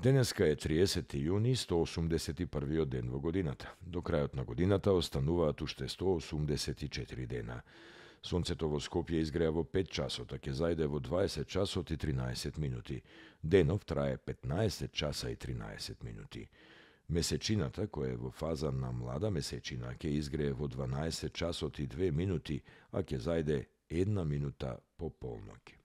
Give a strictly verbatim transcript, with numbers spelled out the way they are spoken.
Денеска е триесети јуни, сто осумдесет и првиот ден во годината. До крајот на годината остануваат уште сто осумдесет и четири дена. Сонцето во Скопје изгреа во пет часот, а ќе зајде во дваесет часот и тринаесет минути. Денов трае петнаесет часа и тринаесет минути. Месечината, која е во фаза на млада месечина, ќе изгрее во дванаесет часот и две минути, а ќе зајде една минута по полноќ.